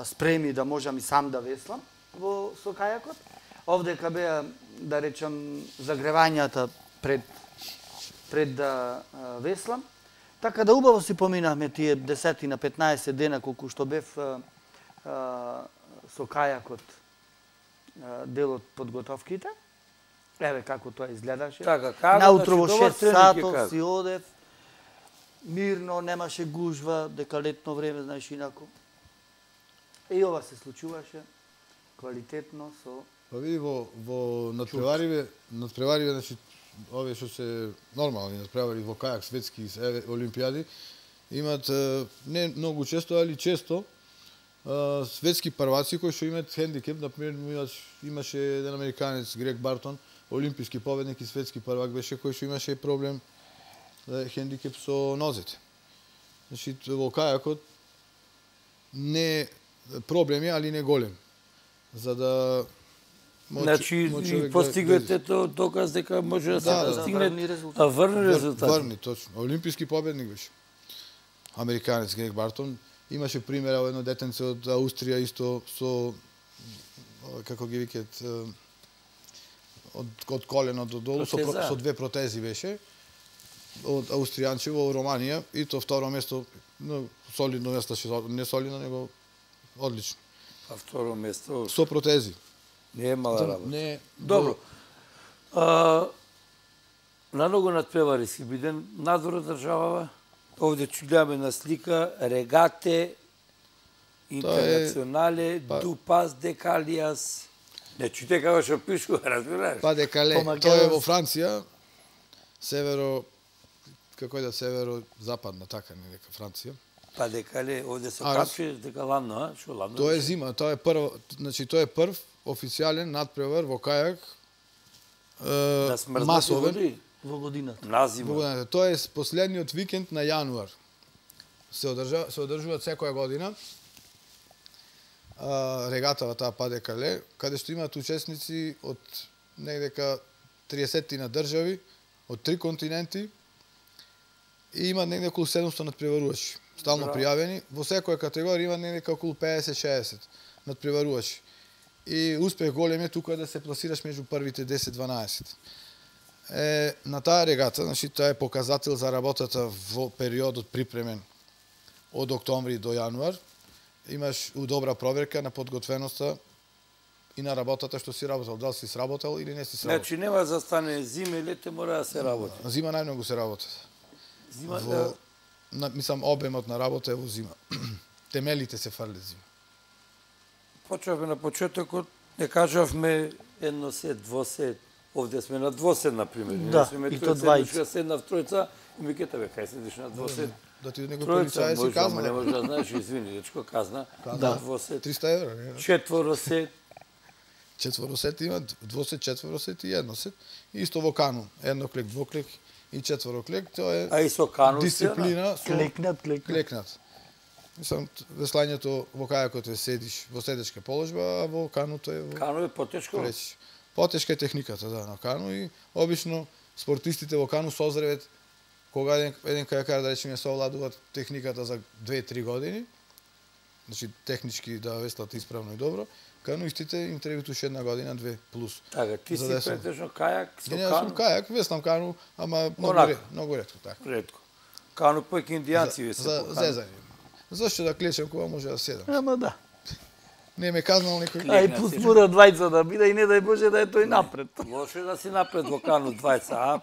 спреми да можам и сам да веслам со кајакот. Овдека беа, да речам, загревањата пред да веслам. Така да убаво си поминавме тие 10 на 15 дена колку што бев со кајакот дел од подготовките. Еве како тоа изгледаше. Наутро во 6 сатот си одев, мирно, немаше гужва, дека летно време, знаеш, инако. И ова се случуваше квалитетно со... Па види, во надпревариве, значи, овие што се нормални надпревари во кајак, светски олимпијади, имат не многу често, али често светски прваци кои што имаат хендикеп. Например, имаше еден американец, Грег Бартон, олимписки победник и светски првак беше, кој што имаше проблем, хендикеп со нозете. Значи, во кајакот не проблеми, али не голем. За да значи, постигвате доказ дека може да се постигне врни резултати. Врни, точно. Олимписки победник беше. Американец Грег Бартон. Имаше примера едно детенце од Аустрија исто со, како ги викат, од колено до долу, со 2 протези беше, од Аустријанче во Романија, и то второ место, солидно место, не солидно, него одлично. А второ место? Со протези. Не е мала работа. Добро. На многу надпревари си биден надвор од државава. Овде гледаме на слика регате, интернационале, Дупас, Декалиас. Не чуте како што пишува, разбираш? Па Декале, тоа е во Франција, северо-западна, така не дека Франција. Па Декале, овде се качи дека ладно, а? Шо ладно? Тоа е зима, тоа е прв официјален надпревар во кајак масовен во годината. На зима. Тоа е последниот викенд на јануар. Се одржуваат секоја година регатава таа Па Декале, каде што имаат учесници од негдека 30 на држави, од 3 континенти, и има негде околу 700 надпреварувачи, стално пријавени. Во секоја категорија има негде околу 50-60 надпреварувачи. И успех голем е тука да се пласираш меѓу првите 10-12. На таа регата, значи тоа е показател за работата во периодот припремен од октомври до јануар. Имаш добра проверка на подготвеноста и на работата што си работел, дали си сработел или не си сработел. Значи нема за стане зима и лете, мора да се работи. Зима најмногу се работи. Зима мислам, обемот на работа е во зима. Темелите се фрлят зима. Почнавме на почетокот, не кажавме едно сет, двосет. Овде сме на двосет, например. Да, и то двајца. Седна в тројца и ми кета, бе, кај седиш на двосет? Да ти некој полицај си казна. Не може да знаеш, извини, дечко казна. Да, двосет. 300 евра. Четворосет. Четворосет има, двосет, четворосет и едносет. Исто во кану, едноклек, двоклек и четвороклек, тоа е... А и со кану дисциплина. Клекнат. Мислам, веслањето во кајакот е седиш во седечка положба, а во кануто е... Кану е потешко? Потешка е техниката, да, на кану, и обично спортистите во кану созревет кога еден кајакар, да речеме, совладуваат техниката за 2-3 години, значи технички да веслат исправно и добро, кануистите им требат уште 1 година, 2 плюс. Така, ти си претежно кајак со кану? Не, сум кајак, веслам кану, ама многу ретко, така. Ретко. Кану појки индијанци се за зезање. Зошто да клечем кога може да седам? Ама да. Не ме казнал некој. Ај пуспура двајца да биде и не дај Боже да е тој напред. Лошо да си напред во кану двајца,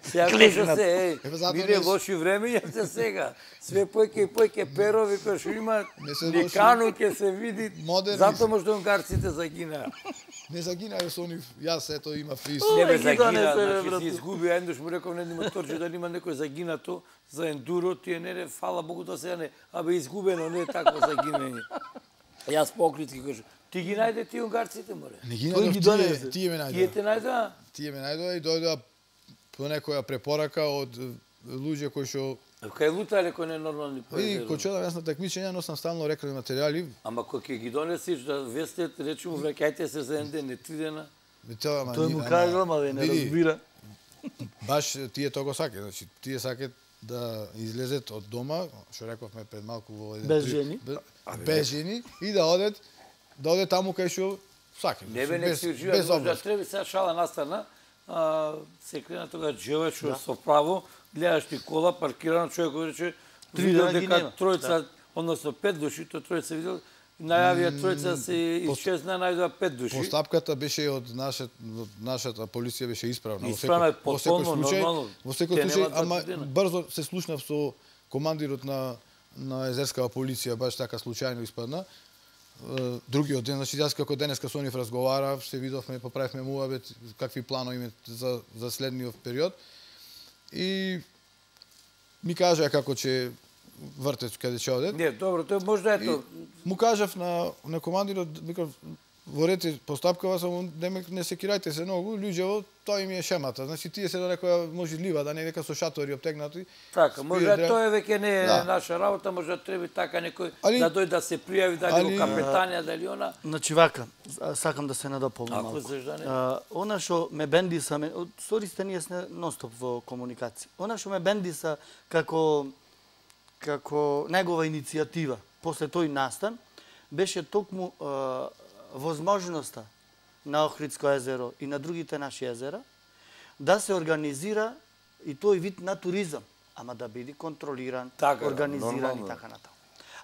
Сега клече се, биде лоши времења се сега. Све појке перови кои што има, ни кану ќе се види, затоа може унгарците загинаа. Не загинаа со они, јас ето има фриз. Не бе загина, значи си изгуби, еднаш му реков на еден моторче да има некој загинато за ендуро, тие не, фала Богу тоа сега не, абе изгубено, не е такво загинење. Јас покритки кажу, ти ги најде тие унгарците, море? Не ги најдов, тие ме најдоа. Тие те најдоа? Тие ме најдоа и дојдоа по некоја препорака од луѓе кои што... Кај лутале кои не нормални поедери. И кој чудам, јас на такмичења носам стално рекламни материјали. Ама кој ќе ги донесиш да вестет, речемо, враќајте се за 1 ден, не 3 дена? Тој му кажа, ама не разбира. Баш тие тоа го сакаат, значи тие сакаат да излезет од дома, што рековме пред малку во еден... Без жени? бежини и да оде таму кај што сака. Не бе, не си ужива, можда треба сега шала настана, се крена тога джева што со право, гледаш ти кола, паркирано, човек го рече, видел дека тројца, односно 5 души, то тројца видел, најавија тројца се исчезна, најдоа 5 души. Постапката беше од нашата полиција беше исправна. Исправна е потполно, нормално. Во секој случај, ама брзо се слушнав со командирот на езерскава полиција, баш така случајно испадна. Другиот ден, значи јас како денеска со нив разговарав, се видовме, поправивме муабет, какви планови имаме за следниот период. И ми кажа како ќе вртец каде ќе одат. Не, добро, тоа можда ето. Му кажав на командирот, викав, во ред постапкава само не секирајте се многу, луѓето тоа им е шемата. Значи тие се до некоја можлива да не дека со шатори оптегнати. Така, може тоа веќе не е наша работа, може треба така некој да дојде да се пријави, дали го капетанија, дали она. Значи вака, сакам да се надополнам малку. Она што ме бендиса, сте ние сме нонстоп во комуникација. Она што ме бендиса како негова иницијатива после тој настан беше токму возможноста на Охридско езеро и на другите наши езера да се организира и тој вид на туризам, ама да биде контролиран, организиран и така натаму.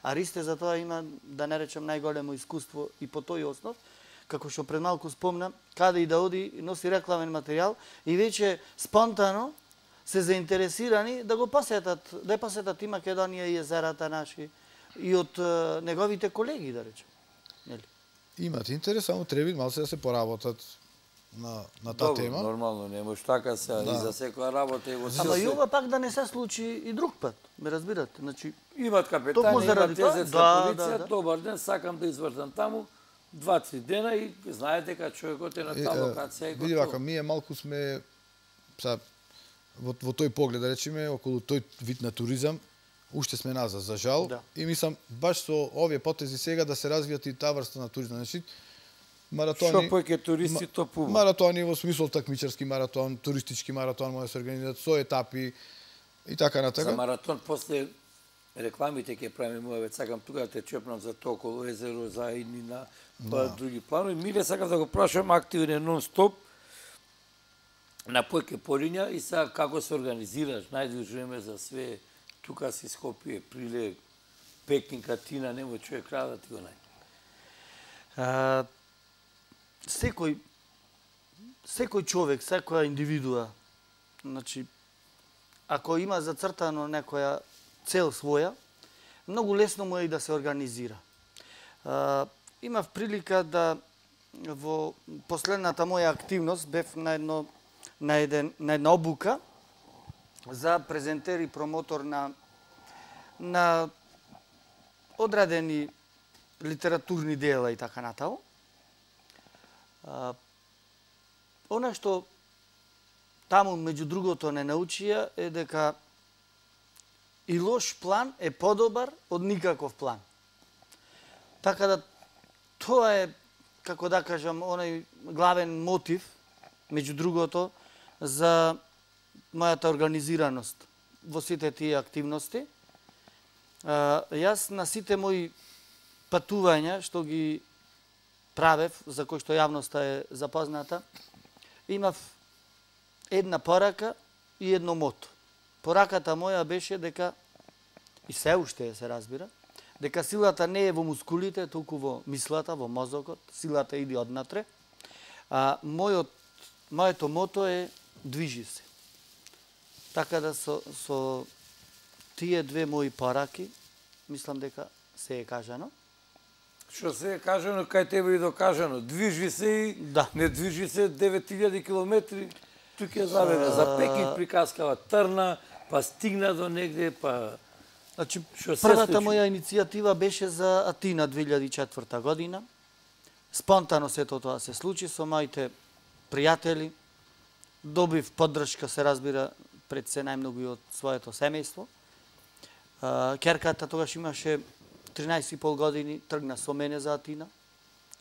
А Ристе за тоа има, да не речем, најголемо искуство и по тој основ, како што пред малку спомнам, каде и да оди, носи рекламен материјал и веќе спонтано се заинтересирани да го посетат, да посетат и Македонија и езерата наши и од неговите колеги, да речем. Нели? Имат интерес, само треба малку да се поработат на таа тема. Добро, нормално, не може така се и за секоја работа и го се. Ама и ова пак да не се случи и друг пат, ме разбирате. Значи имат капетани, имат езерска полиција, добар ден, сакам да извртам таму 2-3 дена и знаете дека човекот е на таа локација и готово. Види вака, ние малку сме во тој поглед, да речеме, околу тој вид на туризам, уште сме назад, за жал. И мислам, баш со овие потези сега да се развијат и таа врста на туризам. Значи, маратони... Шо поќе туристи, то пува. Маратони во смисол такмичарски маратон, туристички маратон, може да се организират со етапи и така натака. За маратон, после рекламите ќе правиме муавет, сакам тука да те чепнам за тоа околу езеро, за идни на други планови. Миле, сакам да го прашам, активен е нон-стоп, на појке Полиња и сега како се организираш, најдуж време за све, тука си Скопје, Прилег, Пекин, Атина, немој човек да ти го најде. Секој човек, секоја индивидуа, значи, ако има зацртано некоја цел своја, многу лесно му е и да се организира. Имав прилика да во последната моја активност бев на една обука за презентер и промотор на одредени литературни дела и така натаму. Она што таму, меѓу другото, не научија е дека и лош план е подобар од никаков план. Така да, тоа е, како да кажам, оној главен мотив, меѓу другото, за мојата организираност во сите тие активности. Јас на сите мои патувања, што ги правев, за кои што јавноста е запозната, имав една порака и едно мото. Пораката моја беше дека, и се уште се разбира, дека силата не е во мускулите, толку во мислата, во мозокот, силата иде однатре. Моето мото е движи се. Така да со тие две мои пораки, мислам дека се е кажано. Што се е кажано, кај тебе и докажано. Движи се и не движи се 9000 километри. Тук ја заведе. За Пекин приказкава трна, па стигна до негде, па... Значи, првата моја иницијатива беше за Атина 2004 година. Спонтано сето тоа се случи со моите пријатели. Добив поддршка, се разбира, пред се најмногу и од своето семејство. Керката тогаш имаше 13,5 години, тргна со мене за Атина.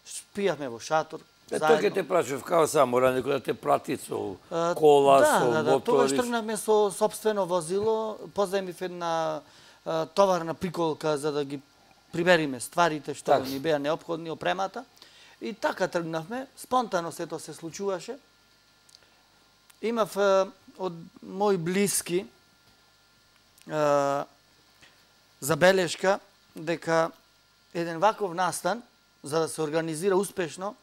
Спијавме во шатор. Тоа ќе те прашав, како само мора некој да те прати со кола, со мотори? Да, тогаш тргнавме со собствено возило, позајмив една товарна приколка за да ги прибериме стварите што ни беа неопходни, опремата. И така тргнавме, спонтано сето се случуваше. Имав од мои блиски забелешка дека еден ваков настан, за да се организира успешно,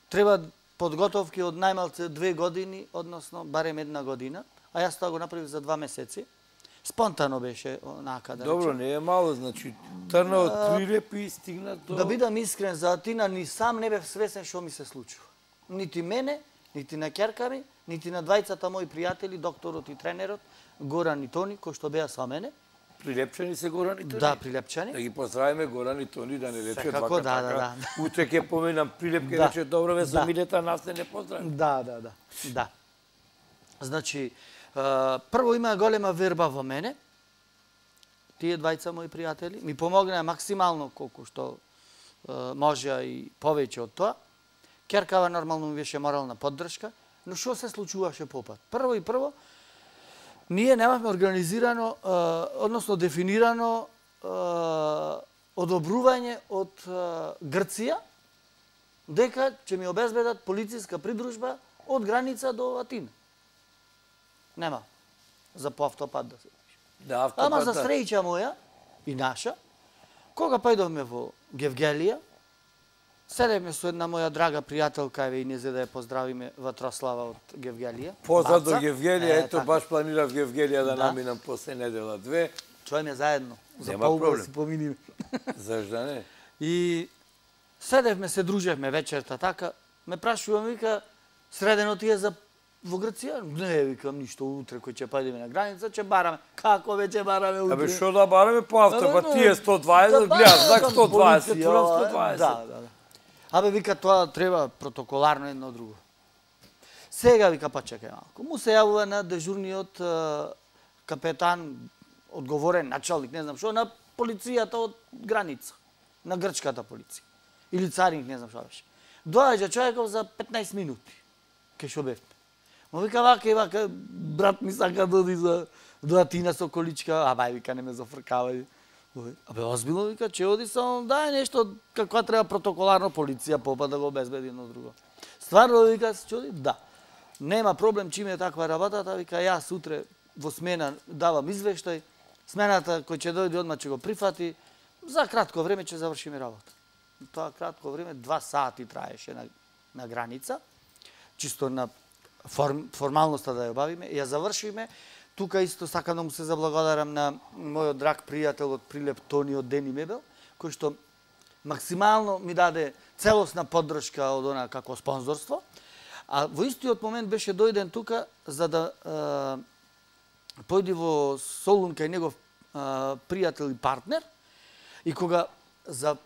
треба подготовки од најмалце 2 години, односно барем 1 година, а јас тоа го направив за 2 месеци. Спонтано беше онака да речем. Добро, не е мало, значи трна од Прилеп и стигна до... Да бидам искрен, за Атина ни сам не бев свесен што ми се случува. Нити мене, нити на ќерка ми, нити на двајцата мои пријатели, докторот и тренерот, Горан и Тони, кои што беа со мене. Прилепчани се Горан и Тони? Да, прилепчани. Да ги поздравиме Горан и Тони, да не рече секако, двака да. Утре ќе поменам Прилеп, ќе рече добро ве со Милета, нас не поздрави. Да. Значи, прво има голема верба во мене. Тие двајца мои пријатели ми помогнаа максимално колку што можеа и повеќе од тоа. Ќеркава нормално ми беше морална поддршка, но што се случуваше попат? Прво, ние немавме организирано, односно дефинирано одобрување од Грција дека ќе ми обезбедат полициска придружба од граница до Атина. Нема. За по автопат да се пише. Ама за среќа моја и наша, кога појдовме во Гевгелија, седевме со една моја драга пријателка, еве и не за да ја поздравиме, Ватрослава од Гевгелија. Позад до Гевгелија, ето баш планирав Гевгелија да наминам после недела 2. Чојме заедно, за полгода си поминиме. Зашто не? И седевме, се дружевме вечерта така, ме прашувам, вика, средено ти е за во Грција? Не, викам, ништо, утре кој ќе појдеме на граница, ќе бараме. Како веќе бараме утре? Абе, што да бараме по автопат? Тие 120, гледаш, знак 120, турам 120. Да. Абе, вика, тоа треба протоколарно едно друго. Сега, вика, па чекај малку. Му се јавува на дежурниот капетан, одговорен началник, не знам што, на полицијата од граница, на грчката полиција. Или царинг, не знам што беше. Доаѓа човеков за 15 минути. Ке шо бевме. Ма вика, вака, брат ми сака да оди до Атина со количка, абај, вика, не ме зафркавај. Абе, озбилно, вика, че оди само, дај нешто, каква треба протоколарно полиција попа да го обезбеди едно друго. Стварно, вика, се чуди? Да. Нема проблем, чим е таква работата, вика, јас утре во смена давам извештај, смената кој ќе дојде одма ќе го прифати, за кратко време ќе завршиме работа. Тоа кратко време, 2 сати траеше на граница, чисто на формалноста да ја обавиме, ја завршиме. Тука исто сакам да му се заблагодарам на мојот драг пријател од Прилеп, Тони од Дени Мебел, кој што максимално ми даде целосна поддршка од она како спонзорство. А во истиот момент беше дојден тука за да појди во Солун кај негов пријател и партнер, и кога за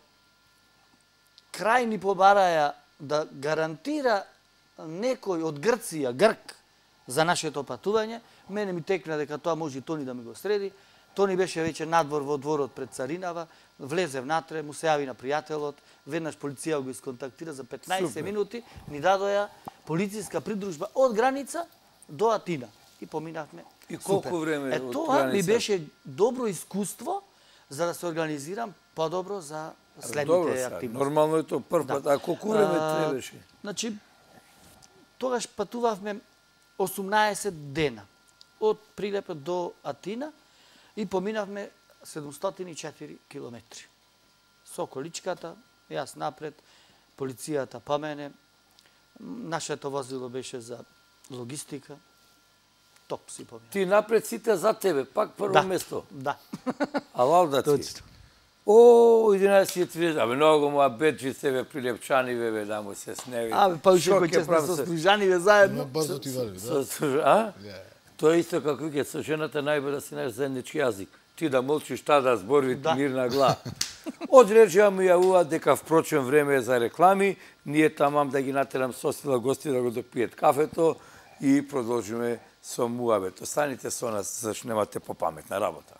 крај ни побараја да гарантира некој од Грција, Грк, за нашето патување, мене ми текна дека тоа може и Тони да ми го среди. Тони беше веќе надвор во дворот пред Царинава, влезе внатре, му се јави на пријателот, веднаш полиција го исконтактира за 15 минути, ни дадоја полициска придружба од граница до Атина. И поминавме. И колку време од граница? Тоа ми беше добро искуство за да се организирам подобро за следните активности. Нормално е тоа прв пат, а колку време требаше? Значи, тогаш патувавме 18 дена од Прилеп до Атина и поминавме 704 километри. Со количката, јас напред, полицијата по мене, нашето возило беше за логистика, топ си поминав. Ти напред, сите за тебе, пак прво место. Да. Алал да ти. О, 11:30, абе, многу му абеджи себе прилепчани, бе, да му се сневи. Абе, па уште кој ќе сме со Стрижани, бе, заедно. Брзо ти вали, да? А? Тоа е исто како вике, со жената најбе да си наш заеднички јазик. Ти да молчиш, та да збори мирна глава. Од речија му јавува дека впрочем време е за реклами, ние тамам да ги натерам состила гости да го допијат кафето и продолжиме со муабет. Останите со нас, зашто немате попаметна работа.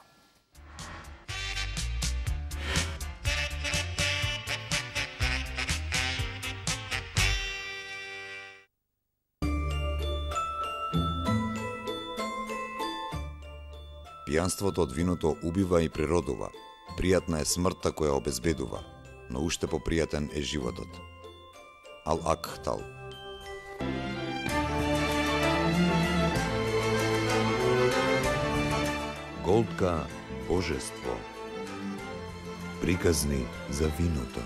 Пијанството од виното убива и природува. Пријатна е смртта која обезбедува, но уште попријатен е животот. Ал-Акхтал. Голдка божество. Приказни за виното.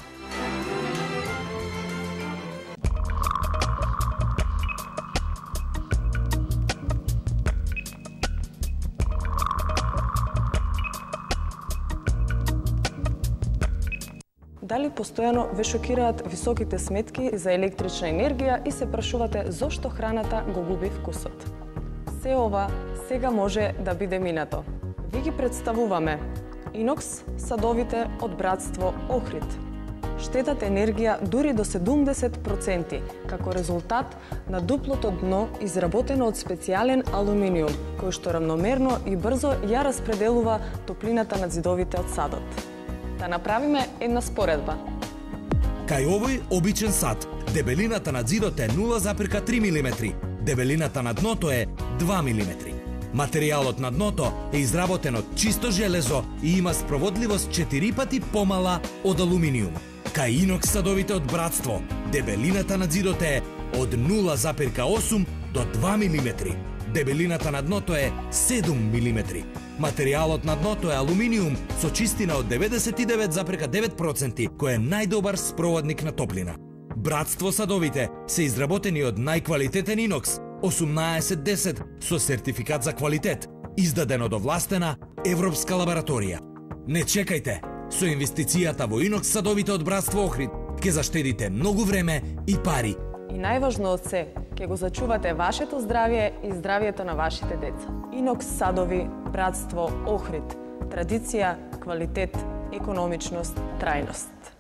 Дали постојано ве шокираат високите сметки за електрична енергија и се прашувате зошто храната го губи вкусот? Се ова сега може да биде минато. Ви ги представуваме Инокс садовите од братство Охрид. Штетат енергија дури до 70% како резултат на дуплото дно изработено од специјален алуминиум, кој што рамномерно и брзо ја распределува топлината на зидовите од садот. Да направиме една споредба. Кај овој обичен сад, дебелината на зидот е 0,3 мм, дебелината на дното е 2 мм. Материјалот на дното е изработен од чисто железо и има спроводливост 4 пати помала од алуминиум. Кај Инокс садовите од братство, дебелината на зидот е од 0,8 до 2 мм. Дебелината на дното е 7 мм. Материјалот на дното е алуминиум со чистина од 99,9%, кој е најдобар спроводник на топлина. Братство садовите се изработени од најквалитетен инокс 1810 со сертификат за квалитет, издаден од овластена европска лабораторија. Не чекајте, со инвестицијата во инокс садовите од братство Охрид ќе заштедите многу време и пари. И најважно од се, ќе го зачувате вашето здравје и здравјето на вашите деца. Инокс садови, братство Охрид. Традиција, квалитет, економичност, трајност.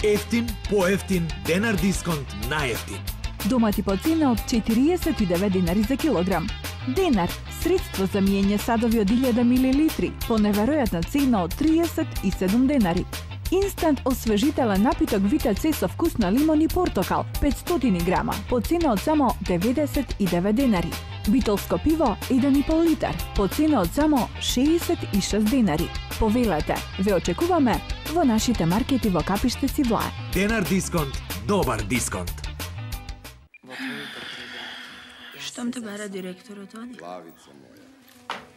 Ефтин, поевтин, денар дисконт, најефтин. Домати по цена од 49 денари за килограм. Денар, средство за миење садови од 1000 мл, по неверојатна цена од 37 денари. Инстант освежителен напиток Витаце со вкус на лимон и портокал, 500 грама, по цена од само 99 денари. Битолско пиво, 1,5 литар, по цена од само 66 денари. Повелете, ве очекуваме во нашите маркети во Капиштец и Влае. Денар дисконт, добар дисконт. Штом те бара директорот, оди? Славица моја,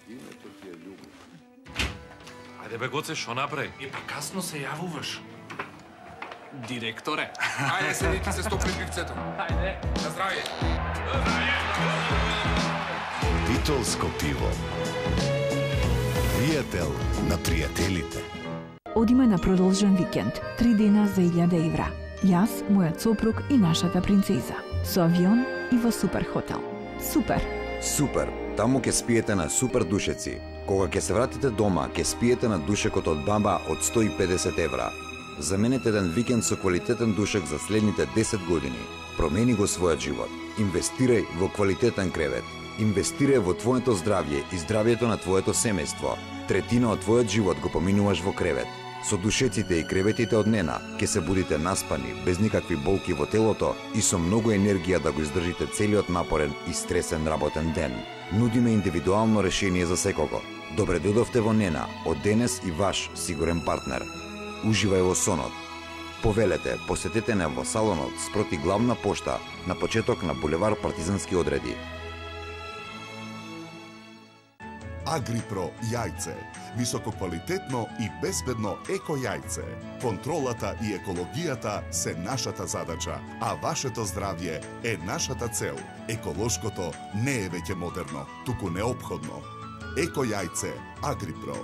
името ти е љубов. Ајде бе, Гоце, шо направи? Па касно се јавуваш. Директоре. Ајде, седи ти се стопри пивцето. Ајде. На здравје. Битолско пиво. Пријател на пријателите. Одиме на продолжен викенд, 3 дена за 1000 евра. Јас, мојот сопруг и нашата принцеза. Со авион и во супер хотел. Супер. Супер. Таму ќе спиете на супер душеци. Кога ќе се вратите дома, ќе спиете на душекот од баба од 150 евра. Заменете еден викенд со квалитетен душек за следните 10 години. Промени го својот живот. Инвестирај во квалитетен кревет. Инвестирај во твоето здравје и здравјето на твоето семејство. Третина од твојот живот го поминуваш во кревет. Со душеците и креветите од Нена ќе се будите наспани, без никакви болки во телото и со многу енергија да го издржите целиот напорен и стресен работен ден. Нудиме индивидуално решение за секого. Добре додовте во Нена, од денес и ваш сигурен партнер. Уживај во сонот. Повелете, посетете не во салонот спроти главна пошта на почеток на булевар Партизански одреди. Агрипро јајце. Висококвалитетно и безбедно еко јајце. Контролата и екологијата се нашата задача, а вашето здравје е нашата цел. Еколошкото не е веќе модерно, туку неопходно. Еко јајце Агрипро.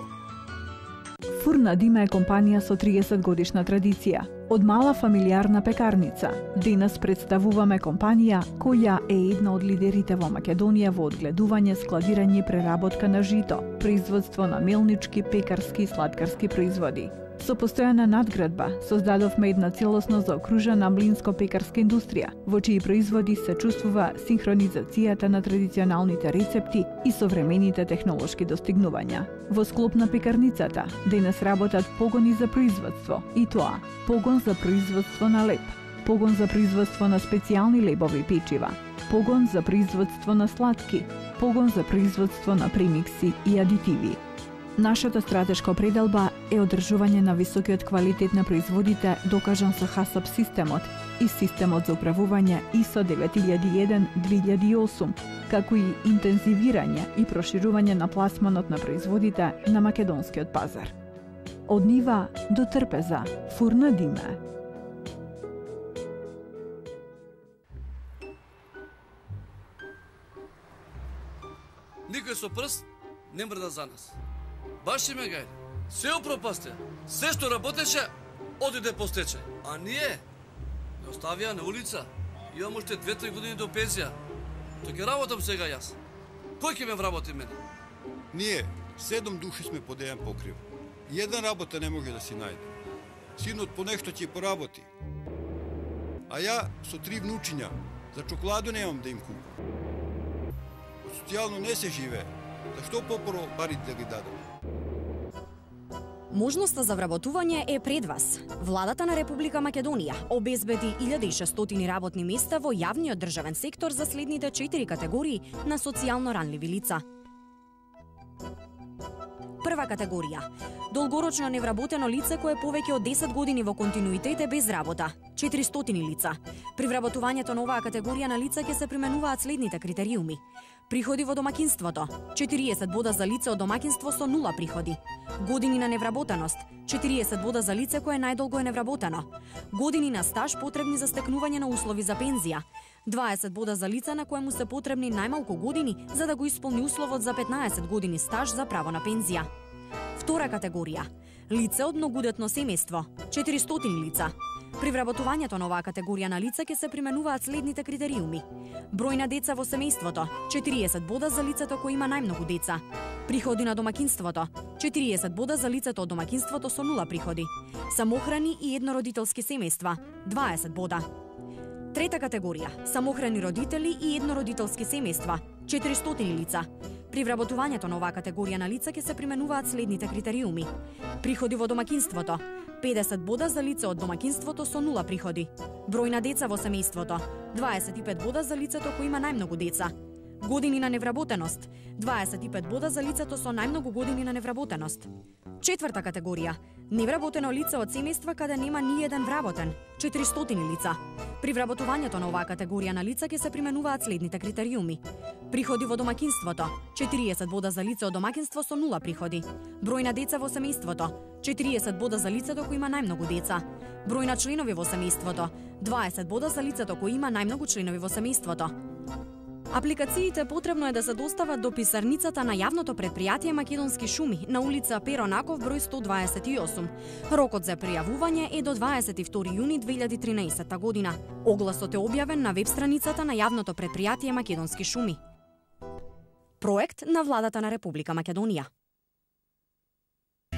Фурна Дима е компанија со 30 годишна традиција. Од мала фамилиарна пекарница. Денес представуваме компанија која е една од лидерите во Македонија во одгледување, складирање и преработка на жито, производство на мелнички, пекарски и сладкарски производи. Со постојана надградба создадовме една целосно заокружена млинско-пекарска индустрија, во чии производи се чувствува синхронизацијата на традиционалните рецепти и современите технолошки достигнувања. Во склоп на пекарницата денес работат погони за производство, и тоа погон за производство на леб, погон за производство на специјални лебови печива, погон за производство на сладки, погон за производство на премикси и адитиви. Нашата стратешка определба е одржување на високиот квалитет на производите докажан со HACCP системот и системот за управување ISO 9001-2008, како и интензивирање и проширување на пласманот на производите на македонскиот пазар. Од нива до трпеза, фурна диме. Никој со прст не мрда за нас. Баш и ме гајде. Се опропасте. Се што работеше, одиде по стечај. А ние не оставија на улица. Имам уште 2-3 години до пензија. Тој ќе работам сега јас. Кој ќе ме вработи мене? Ние 7 души сме под еден покрив. Еден работа не може да си најде. Синот по нешто ќе поработи. А ја со 3 внучиња за чоколаду немам да им купам. Социјално не се живее. Зашто попоро парите да ги дадам? Можноста за вработување е пред вас. Владата на Република Македонија обезбеди 1600 работни места во јавниот државен сектор за следните 4 категории на социјално ранливи лица. Прва категорија. Долгорочно невработено лице кое повеќе од 10 години во континуитет е без работа. 400 лица. При вработувањето на оваа категорија на лица ќе се применуваат следните критериуми. Приходи во домакинството. 40 бода за лице од домакинство со 0 приходи. Години на невработеност. 40 бода за лице кое најдолго е невработено. Години на стаж потребни за стекнување на услови за пензија. 20 бода за лице на коему се потребни најмалку години за да го исполни условот за 15 години стаж за право на пензија. Втора категорија. Лице од многодетно семејство. 400 лица. При вработувањето на оваа категорија на лица ќе се применуваат следните критериуми. Број на деца во семејството. 40 бода за лицето кој има најмногу деца. Приходи на домакинството. 40 бода за лицето од домакинството со 0 приходи. Самохрани и еднородителски семејства. 20 бода. Трета категорија. Самохрани родители и еднородителски семејства. 400 лица. При вработувањето на оваа категорија на лица ќе се применуваат следните критериуми. Приходи во домакинството. 50 бода за лице од домакинството со 0 приходи. Број на деца во семејството. 25 бода за лицето кој има најмногу деца. Години на невработеност. 25 бода за лицето со најмногу години на невработеност. Четврта категорија. Невработено лице од семејства каде нема ни еден вработен. 400 лица. При вработувањето на оваа категорија на лица ќе се применуваат следните критериуми. Приходи во домакинството. 40 бода за лице од домакинство со 0 приходи. Број на деца во семејството. 40 бода за лицето кој има најмногу деца. Број на членови во семејството. 20 бода за лицето кој има најмногу членови во семејството. Апликациите потребно е да се достават до писарницата на јавното претпријатие Македонски шуми на улица Перо Наков број 128. Рокот за пријавување е до 22 јуни 2013 година. Огласот е објавен на веб страницата на јавното претпријатие Македонски шуми. Проект на владата на Република Македонија.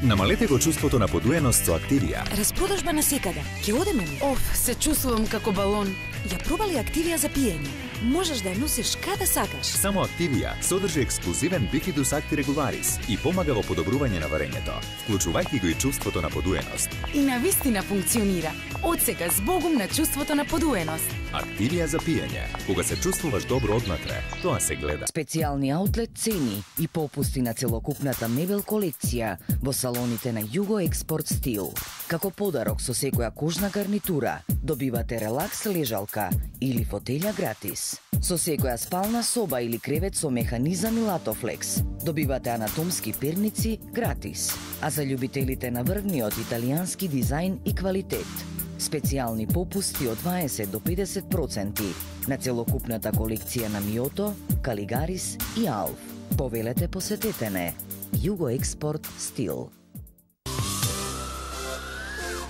Намалете го чувството на подуеност со Активија. Распродажба на секаде. Ќе одеме ли? Оф, се чувствувам како балон. Ја пробали Активија за пиење? Можеш да ја носиш каде сакаш. Само Активија содржи ексклузивен бифидус актирегуларис и помага во подобрување на варењето, вклучувајќи го и чувството на подуеност. И навистина функционира. Од сега збогум на чувството на подуеност. Активија за пиење. Кога се чувствуваш добро однатре, тоа се гледа. Специјални аутлет цени и попусти на целокупната мебел колекција во салоните на Југо Експорт Стил. Како подарок со секоја кожна гарнитура добивате релакс лежалка или фотелја гратис. Со секоја спална соба или кревет со механизам и латофлекс добивате анатомски перници гратис. А за љубителите на врвниот италијански дизајн и квалитет, специјални попусти од 20 до 50% на целокупната колекција на Миото, Калигарис и Алф. Повелете, посетете не. Југо Експорт Стил.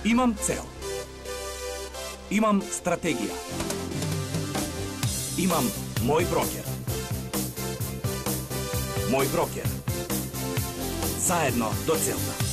Имам цел. Имам стратегија. Имам мој брокер. Мој брокер. Заедно до целта.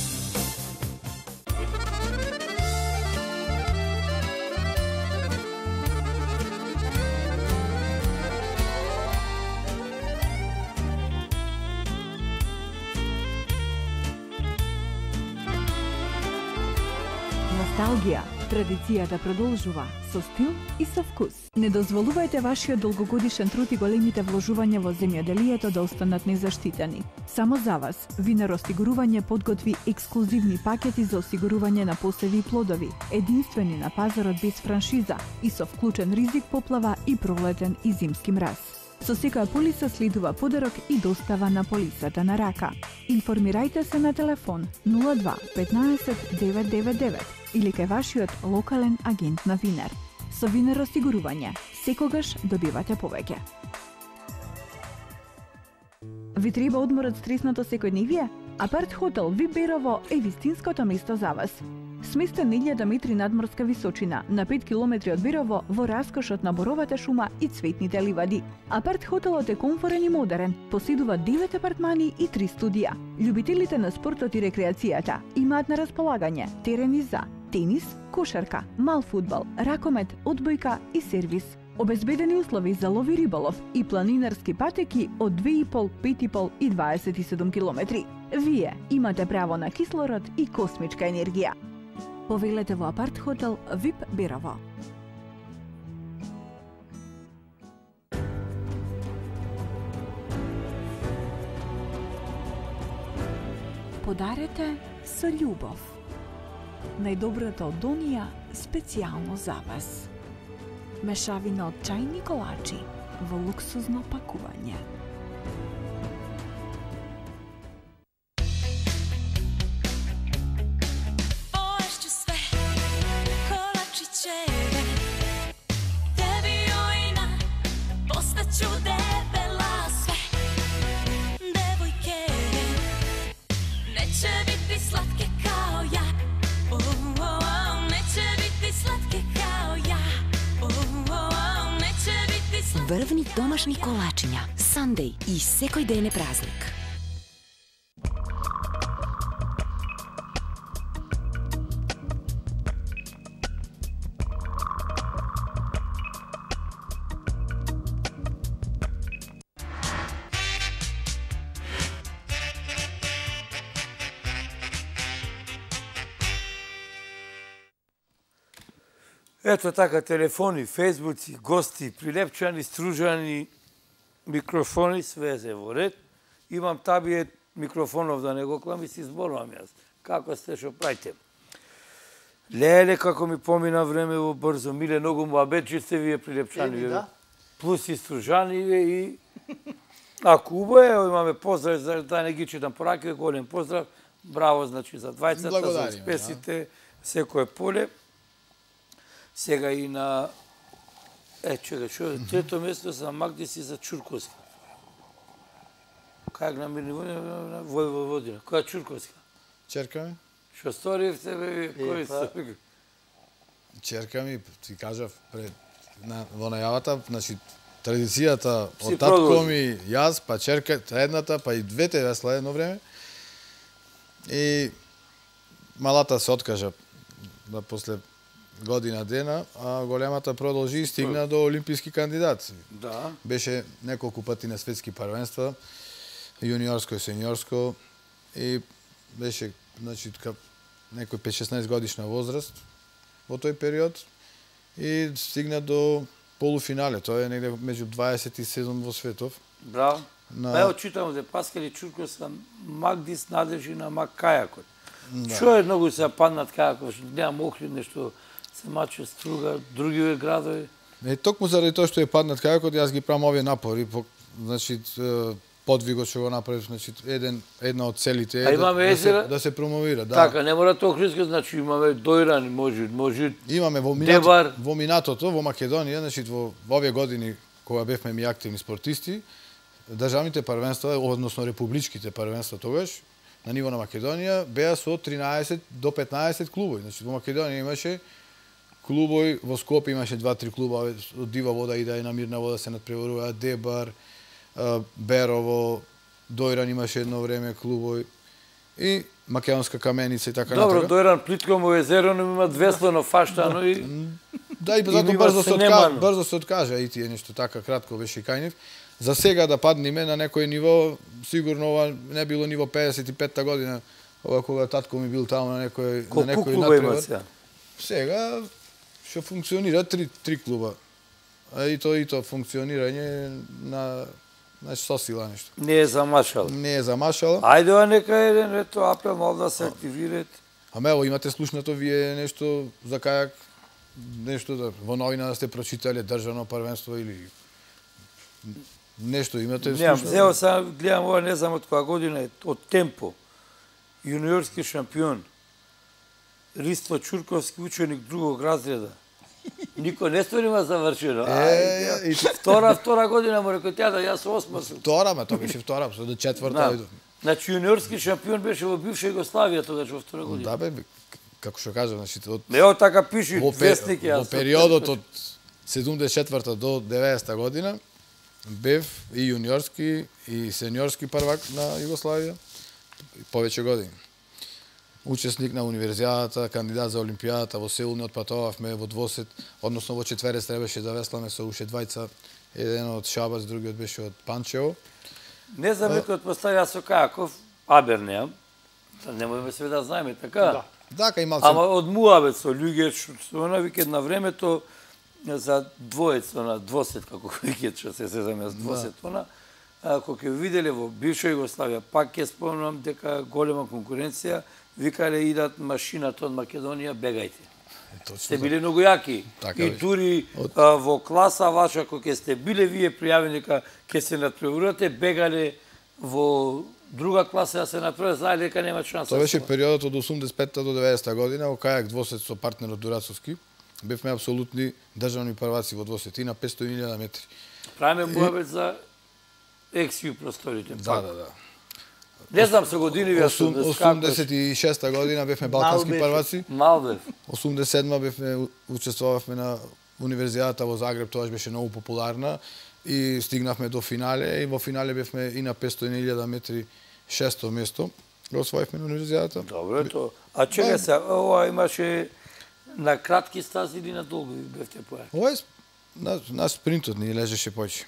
Носталгија. Традицијата продолжува со стил и со вкус. Не дозволувајте вашиот долгогодишен труд и големите вложувања во земјоделието да останат незаштитени. Само за вас, Винар осигурување подготви ексклузивни пакети за осигурување на посеви и плодови, единствени на пазарот без франшиза и со вклучен ризик поплава и пролетен и зимски мраз. Со секоја полиса следува подарок и достава на полисата на рака. Информирајте се на телефон 02 15 999 или кај вашиот локален агент на Винар. Со Винар осигурување, секогаш добивате повеќе. Ви треба одмор од стресното секојдневие? Апарт хотел Вип Берово е вистинското место за вас. Сместен 1000 метри надморска височина, на 5 километри од Берово, во раскошот на боровата шума и цветните ливади. Апарт хотелот е комфорен и модерен, поседува 9 апартмани и 3 студија. Љубителите на спортот и рекреацијата имаат на располагање терени за тенис, кошарка, мал фудбал, ракомет, одбојка и сервис. Обезбедени услови за лов и риболов и планинарски патеки од 2,5, 5,5 и 27 километри. Вие имате право на кислород и космичка енергија. Повелете во апарт хотел Вип Берово. Подарете со љубов. Најдобрата од Донија специјално за вас. Мешавина од чајни колачи во луксузно пакување. Врвни домашни колачиња, Сандеј и секој ден е празник. Ето така, телефони, фейсбуци, гости, прилепчани, стружани, микрофони, све се во ред. Имам табије микрофонов да не го клам и си зборувам јас. Како сте, шо прајте? Леле, како ми помина време во брзо. Миле, многу му абечи сте вие прилепчани. Да. Плюс и стружани и... Ако убо е, имаме поздрав, за да не ги читам пораки, голем поздрав. Браво, значи, за двајцата, за успесите, секој поле. Сега и на... чекай, шо, трето место за Магдис и за Чурковска. Кај на Мирни Војводина? Која Чурковска? Черка ми. Шо сторивте, бе, кој се? Черка ми, ти кажав, во најавата, значи, традицијата од татко ми, јас, па черка, едната, па и двете весла едно време. И малата се откажа, да после година дена, а големата продолжи и стигна до олимписки кандидат. Да. Беше неколку пати на светски парвенства, јуниорско и сениорско, и беше, значи, некој 5-16 годишна возраст во тој период и стигна до полуфинале. Тоа е негде меѓу 27 во светов. Браво. Ево читам де Паскали Чурковска, Магдис надлежи на Макајакот. Што е многу се паднат кајакот, немам Охрид, нешто се маче Струга, други градови. Токму заради тоа што е паднат кајакот, јас ги правам овие напори, значи подвигот што го направив, значи една од целите е да се промовира, да. Така, не мора Охридска, значи имаме Дојран, може имаме во минатото, во Македонија, значи во овие години кога бевме ми активни спортисти, државните парвенства, односно републичките парвенства тогаш, на ниво на Македонија, беа со 13 до 15 клубови. Значи, во Македонија имаше клубови, во Скопје имаше 2-3 клуба, од Дива вода и да е на Мирна вода се надпреварува, Дебар, Берово, Дојран имаше едно време клубови, и Македонска каменица и така натака. Добро, Дојран, плитко му езеро, но има веслено фаштано и... Да, и затоа брзо се откажа и тие нешто така, кратко беше и кај нив. За сега да падниме на некој ниво, сигурно ова не било ниво 55-та година, ова кога татко ми бил таму на некој клуба има сега? Сега што функционира три клуба. А и то функционирање на сосила нешто. Не е замашало. Не е замашало. Ајде нека еден ето апел мол да се активират. Ама ево имате слушнато вие нешто за кајак, нешто да во новина да сте прочитале државно првенство или нешто имате слушнато? Немам, зео сам гледам ова, не знам од која година е, од Темпо. Јуниорски шампион. Риство Чурковски, ученик другог разреда. Никој не сторима завршено. Втора година му рекој тя да јас осма сум. Втора, ма тоа беше втора, до четврта иду. Значи јуниорски шампион беше во бивша Југославија тогаш во втора година. Да бе, како што кажам, значи Ево така пиши вестник јас. Во периодот од 74-та до 90-та година бев и јуниорски и сениорски првак на Југославија повеќе години. Учесник на универзијадата, кандидат за олимпијадата, во Сеул не отпатувавме во двосет, односно во четверец требаше да весламе со уште двајца, еден од Шабац, другиот беше од Панчево. Не знам некој одпоставија со Кајаков, Абер неам, немојме све да знаеме, така? Да, кај малце. Ама од муавет со луѓе, што она викет на времето за двоец, она двосет, како викет, што се сезаме с двосет, она, кога ќе виделе во бивша Југославија, пак ќе спомнам дека голема конкуренција, викале идат машината од Македонија, бегајте. Сте биле многу јаки. И дури во класа ваша, кога ќе сте биле вие пријавени дека ќе се надпреварувате, бегале во друга класа да се надпреварувате, знаеле дека нема шанса. Тоа беше периодот од 85-та до 90-та година, во кајак двосет со партнерот Дурацовски. Бевме апсолутни државни прваци во двосет и на 500.000 метри. Правиме муабет за ексију просторите. Да. Не знам со години ви 86-та година бевме балкански прваци. Малбев. 87-та бевме учествувавме на универзијадата во Загреб, тоа беше многу популарна и стигнавме до финале и во финале бевме и на 500.000 метри 6-то место. Го освоивме на универзијадата. Добро тоа. А чека се, ова имаше на кратки стази или на долги бевте поја? Ова е на спринтот ни лежеше повеќе,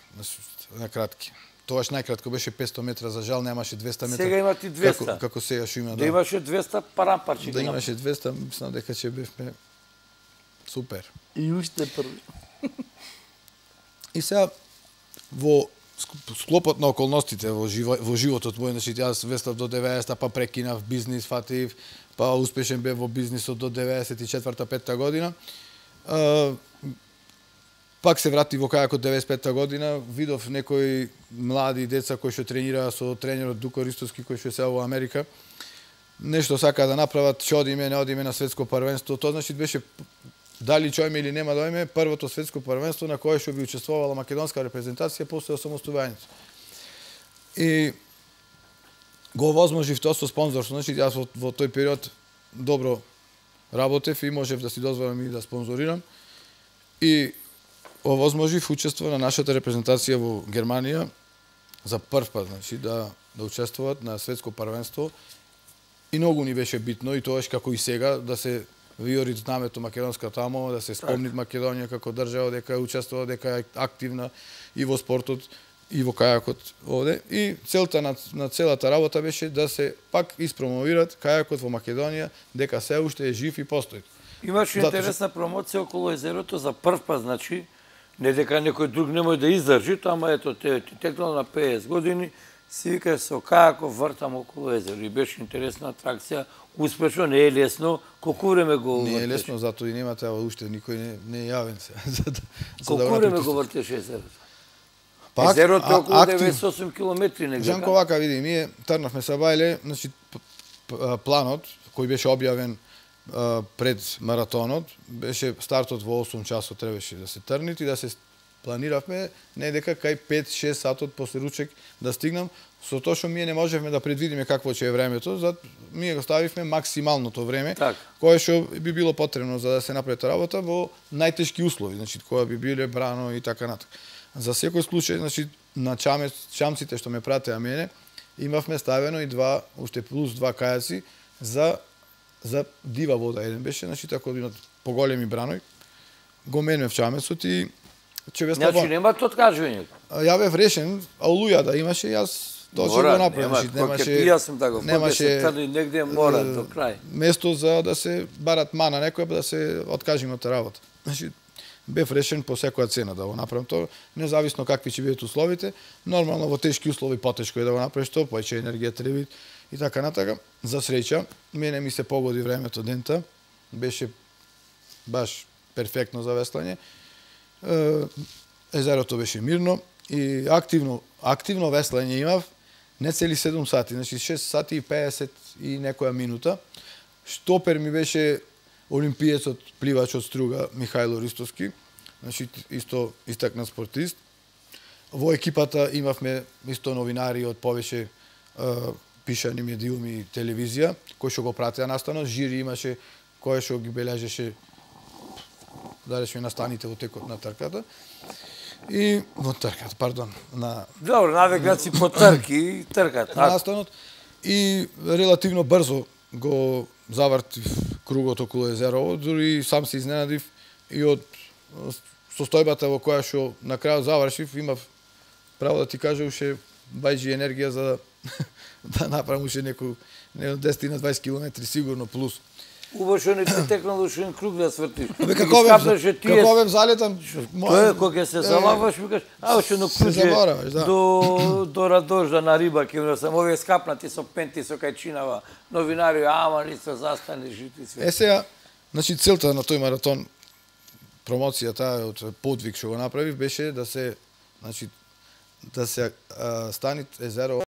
на кратки. Тоаш најкратко беше 500 метра, за жал немаше 200 метра. Сега имате 200. Како сега што има, да. Да имаше 200 парампарчи. Да имаше 200, мислам дека ќе бевме супер. И уште први. И сега во склопот на околностите во животот мој, значи јас веслав до 90-та, па прекинав бизнис, фатив, па успешен бев во бизнисот до 94-та година. Пак се врати во кајакот 95-та година, видов некои млади деца кои што тренираа со тренерот Дуко Ристовски кој што се во Америка. Нешто сака да направат, ќе одиме, не одиме на светско првенство. Тоа значи беше дали ќе одиме или нема да одиме, првото светско првенство на кое што би учествувала македонска репрезентација после осамостојањето. И го овозможив тоа со спонзорство, значи јас во тој период добро работев и можев да си дозволам и да спонзорирам. И овозможив учество на нашата репрезентација во Германија за прв пат, значи да учествуваат на светско првенство. И многу ни беше битно и тоаш како и сега да се виори знамето македонска тамо, да се спомни Македонија како држава дека учествува, дека е активна и во спортот и во кајакот овде. И целта на целата работа беше да се пак испромовират кајакот во Македонија, дека се уште е жив и постои. Имаше интересна промоција околу езерото за прв пат, значи не дека некој друг не може да издржи, ама ето те текнало на 50 години, си вика со кајаков вртам околу езеро и беше интересна атракција, успешно, не е лесно, колку време го вртеш? Не е лесно, затоа и нема треба уште никој не е јавен се. Колку време го вртеш езерото? Езерото е околу 98 километри негде. Жанко вака види, ние трнавме са бајле, значи планот кој беше објавен пред маратонот, беше стартот во 8 часот требаше да се трнит и да се планиравме не дека кај 5-6 сатот после ручек да стигнам, со тоа што ние не можевме да предвидиме какво ќе е времето, затоа ние го ставивме максималното време, кое што би било потребно за да се направи таа работа во најтешки услови, значи кога би биле брано и така натаму. За секој случај, значи на чамците што ме пратеа мене, имавме ставено и уште плюс 2 кајаци за дива вода еден беше, значи така да имат поголеми браној. Го менев чамецот и Значи нема тоа откажување. Ја бев решен, а олуја да имаше, јас Тоа ќе го направи, немаше негде мора до крај. Место за да се барат мана некој, да се откажиме од работа. Значи, бев решен по секоја цена да го направам тоа, независно какви ќе бидат условите. Нормално во тешки услови потешко е да го направиш тоа, поеќе енергија треба и така натака. За среќа, мене ми се погоди времето дента, беше баш перфектно за веслање. Езерото беше мирно и активно веслање имав, не цели 7 сати, значи 6 сати и 50 и некоја минута. Штопер ми беше олимпиецот, пливач од Струга, Михајло Ристовски, значи исто истакнат спортист. Во екипата имавме исто новинари од повеќе пишани медиуми и телевизија, кои што го пратеа настанот, жири имаше кој што ги бележеше да речеме настаните во текот на трката. И во трката, пардон, на добро, навекат си по трки, трката. Настанот и релативно брзо го завртив кругот околу езерово, дури сам се изненадив и од состојбата во која што на крајот завршив, имав право да ти кажа уште бајџи енергија за да направам уште некој 10 на 20 километри сигурно плюс. Убаво што не ти текнал уште круг да свртиш. Како ве залетам? Кога ќе се залаваш, викаш, уште на круг до Радожда на Риба, ќе сам овие скапнати со пенти, со кајчинава, новинари, ама ни се застанеш и ти све. Сега, значи целта на тој маратон, промоцијата од подвиг што го направив, беше да се, значи, да се станит езеро